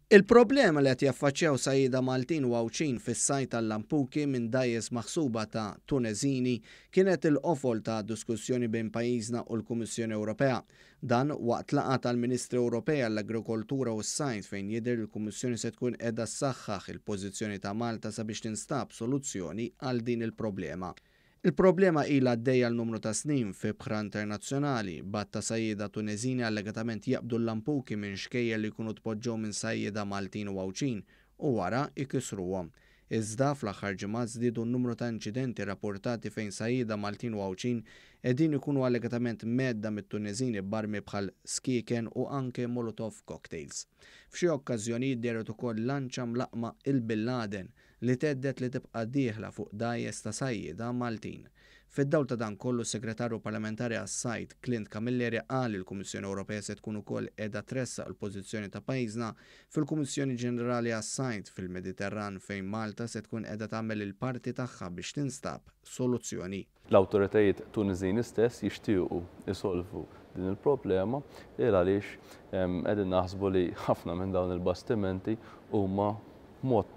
Il-problema li qed jaffaċċjaw sajjieda Maltin u Għawdxin fis-sajd tal-lampuki minn dgħajjes maħsuba ta' Tuneżini kienet il-qofol ta' diskussjoni bejn pajjiżna u l-Kummissjoni Ewropea. Dan waqt laqgħa tal-Ministri Ewropej għall-Agrikoltura u s-Sajd fejn jidher li l-Kummissjoni se tkun qiegħda ssaħħaħ il-pożizzjoni ta' Malta sabiex tinstab soluzzjoni għal din il-problema. Il-problema ilha għaddejja għal numru ta' snin f'ibħra internazzjonali, b'għadd ta' sajjieda Tuneżini allegatament jaqbdu l-lampuki minn xkejjer li jkunu tpoġġew minn sajjieda Maltin u Għawdxin u wara jkissruhom. Iżda, fl-aħħar ġimgħat żdiedu n-numru ta' inċidenti rapportati fejn sajjieda Maltin u Għawdxin qegħdin ikunu allegatament mhedda mit-Tuneżini b'armi bħal skieken u anke molotov cocktails. F'xi okkażjonijiet dehret ukoll lanċa mlaqqma il-Bin Laden li thedded li tibqa' dieħla fuq dgħajjes ta' sajjieda Maltin. Fid-dawl ta' dan kollu s-Segretarju Parlamentari għas-Sajd, Clint Camilleri qal li l-Kummissjoni Ewropea se tkun ukoll qiegħda tressaq il-pożizzjoni ta' pajjiżna fil-Kummissjoni Ġenerali għas-Sajd fil-Mediterran fejn Malta se tkun qiegħda tagħmel il-parti tagħha biex tinstab soluzzjoni. L-awtoritajiet Tuniżini stess jixtiequ jsolvu din il-problema il għaliex qegħdin naħsbu li ħafna minn dawn il-bastimenti huma b'mod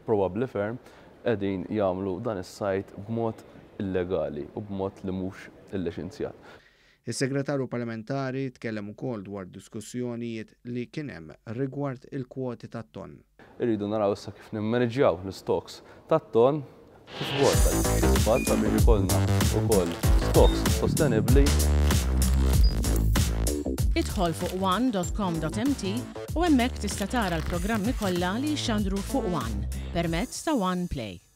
probabbli ferm qegħdin jagħmlu dan is-sajd b'mod illegali u b'mod li mhux illiċenzjat. Is-Segretarju Parlamentari tkellem ukoll dwar diskussjonijiet li kien hemm rigward il-kwoti tat-tonn. Irridu naraw issa kif nimmaniġġjaw l-istocks tat-tonn kif ukoll tal-ispat sabiex ikollna wkoll stocks sostenibbli. Idħol fuq one.com.mt u hemmhekk tista' tara l-programmi kollha li jixxandru fuq One permezz ta' One Play.